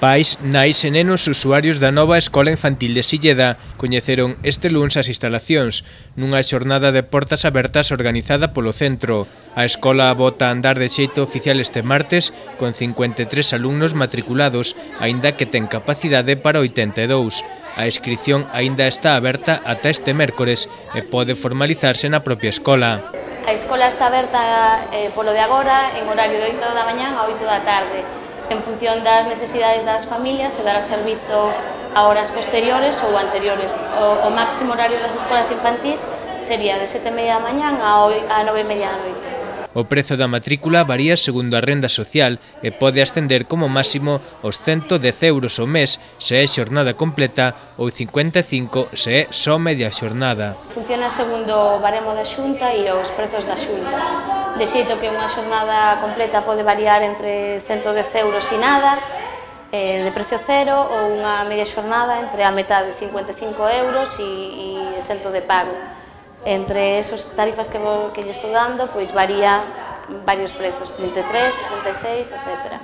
Pais, nais e nenos usuarios da nova Escola Infantil de Silleda coñeceron este luns as instalacións nunha xornada de portas abertas organizada polo centro. A escola bota a andar de xeito oficial este martes con 53 alumnos matriculados, aínda que ten capacidade para 82. A inscripción aínda está aberta ata este mércores e pode formalizarse na propia escola. A escola está aberta polo de agora en horario de 8 da mañá a 8 da tarde. En función das necesidades das familias se dará servizo a horas posteriores ou anteriores. O máximo horario das escolas infantís sería de 7:30 da mañá a 9:30 da noite. O prezo da matrícula varía segundo a renda social e pode ascender como máximo aos 110 euros ao mes se é xornada completa ou 55 se é só media xornada. Funciona segundo o baremo da Xunta e os prezos da Xunta. De xeito que unha xornada completa pode variar entre 110 euros e nada, de precio cero, ou unha media xornada entre a metade de 55 euros e exento de pago. Entre esas tarifas que lle estou dando, pois varía varios prezos, 33, 66, etc.